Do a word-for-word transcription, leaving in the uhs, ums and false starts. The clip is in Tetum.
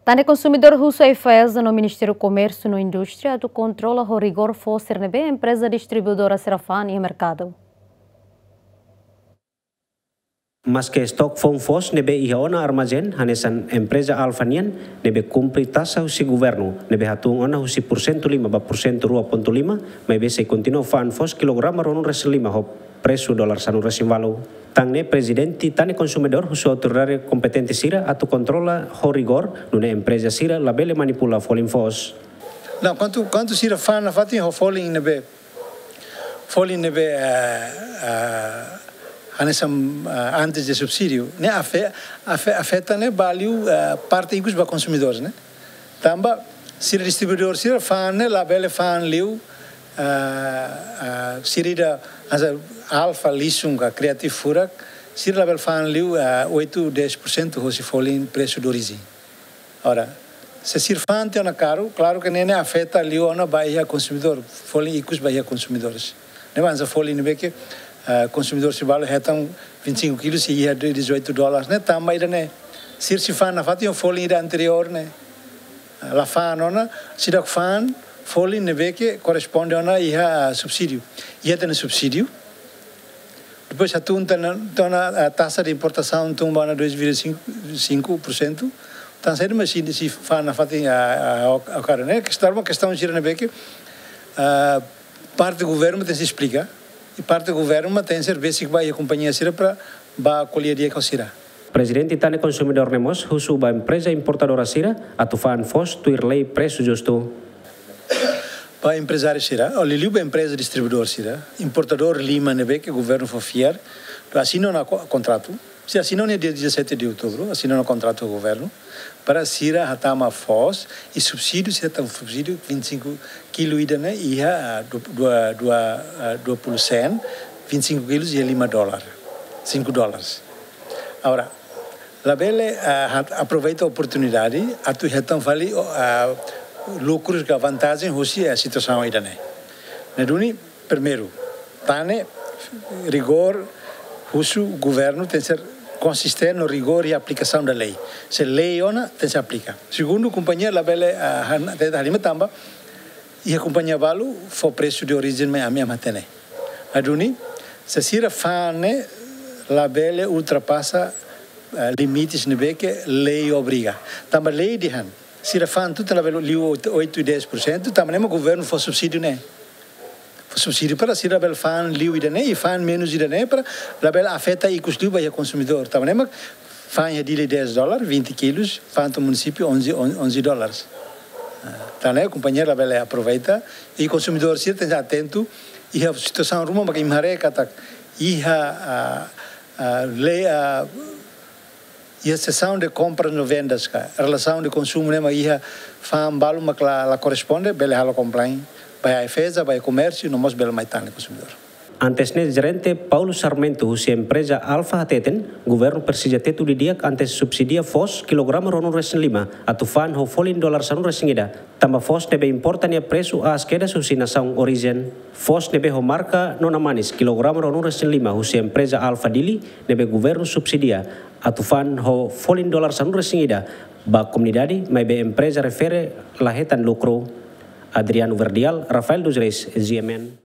Tane konsumidór husu AIFAESA no Ministériu Komérsiu no Indústria atu kontrola ho rigór foos sira ne'ebé empreza distribuidora sira fa'an iha merkadu. Maske estok foun foos ne'ebé iha ona armazén hanesan empreza Alfa nian ne'ebé kumpre taxa husi governu ne'ebé hatún ona husi porsentu lima ba porsentu rua pontu lima, maibé sei kontinua fa'an foos kilograma ruanulu-resin-lima ho presu dolar sanulu-resin-ualu. Tan ne'e Prezidente Tane Konsumidór husu autoridade kompetente sira atu kontrola ho rigór, nune'e empreza sira labele manipula folin foos. Não, kuandu, kuandu sira fa'an nafatin ho folin ne'ebé, folin ne'ebé, eh, eh, hanesan, eh, antes de subsídiu, ne'e afe-, afe-, afeta ne'e ba liu, eh, parte ikus ba konsumidores, ne'e. Tanba sira distribuidór sira fa'an ne'e labele fa'an liu, eh, eh, sira ida, hanesan Alfa, Lisum ka Creative furak, sira labele fa'an liu, eh, oito, dez por cento hosi folin presu de origem. Ora, se sira fa'an tiha ona karu, klaru ke ne'e ne'e afeta liu ona ba iha konsumidór, folin ikus ba iha konsumidores. Ne'e hanesan folin ne'ebé ke, eh, konsumidór sira balu hetan vinte e cinco kilos sei iha dezoito dólares, ne'e tanba ida-ne'e. Sira sei fa'an nafatin ho folin ida anteriór ne'e. Eh, la fa'an ona, seidauk fa'an folin ne'ebé ke korresponde ona iha, eh, subsídiu. Iha tiha ona subsídiu. Depois hatún tiha ona, tiha ona, eh, taxa de importasaun tun ba ona dois vírgula cinco, cinco por cento. Tan saida, mas sei, sei fa'an nafatin, ah, ah, ok, ok, ne'e kestaun, kestaun sira ne'ebé ke, ah, parte governu tenke esplika, i parte governu tenke ser besik ba iha kompañia sira para ba ko'alia di'ak ho sira. Prezidente Tane Konsumidór ne'e mós husu ba empreza importadora sira atu fa'an foos tuir lei presu justu. Ba emprezáriu sira, ou liuliu ba empreza distribuidór sira, importadór lima ne'ebé ke governu fó fiar, atu asina ona ko-, kontratu. Sira asina ona dia dezassete de outubro, asina ona kontratu ho governu, para sira hatama foos, i subsídiu, sira hatama subsídiu vinte e cinco kilo ida-ne'e iha, ah, du-, dua, dua, ah, dua puluh sen, vinte e cinco kilos iha lima dólar, cinco dólares. Agora, labele, ah, hat-, aproveita oportunidade atu hetan fali, ah, lukrus ka vantajen hosi, ah, situasaun ida-ne'e. Ne'e duni, primeiru, Tane rigór husu governu tenke ser konsistente no rigór iha aplikasaun da lei. Se lei ona, tenke ser aplika. Segundu, kompañia labele, ah, han-, tenta halimar tanba iha kompañia balu fó presu de orijen mai ami, ami hatene. Ne'e duni, se sira fa'an ne'e labele ultrapasa, ah, limites ne'ebé ke lei obriga. Tanba lei dehan, sira fa'an tutan labele liu oito, oito e dez por cento, tanba ne'e mak governu fó subsídiu ne'e. Fó subsídiu para sira labele fa'an liu ida-ne'e, i fa'an menus ida-ne'e para labele afeta ikus liu ba iha konsumidór. Tanba ne'e mak fa'an iha Dili dez dólar, vinte kilos, fa'an to'o munisípiu onze, on-, onze dólares. Ah, tan ne'e kompañia labele aproveita, i konsumidór sira tenke atentu, iha situasaun ruma mak imi haree katak, iha, ah, ah, lei, ah, iha sesaun de kompras no vendas ka, relasaun de konsumu ne'e mak iha fa'an balu mak la, la korresponde, bele halo complain ba iha AIFAESA, ba iha komérsiu, no mós bele mai tan iha konsumidór. Antes ne'e, jerente Paulo Sarmento husi empreza Alfa hateten, governu presiza tetu didi'ak antes subsidia foos kilograma ruanulu-resin-lima atu fa'an ho folin dolar sanulu-resin-ida, tanba foos ne'ebé importa nia presu aas kedas husi nasaun orijen. Foos ne'ebé ho marka Nona Manis kilograma ruanulu-resin-lima husi empreza Alfa Dili ne'ebé governu subsidia atu fa'an ho folin dolar sanulu-resin-ida ba komunidade, maibé empreza refere la hetan lukru. Adriano Verdial, Rafael dos Reis, G M N.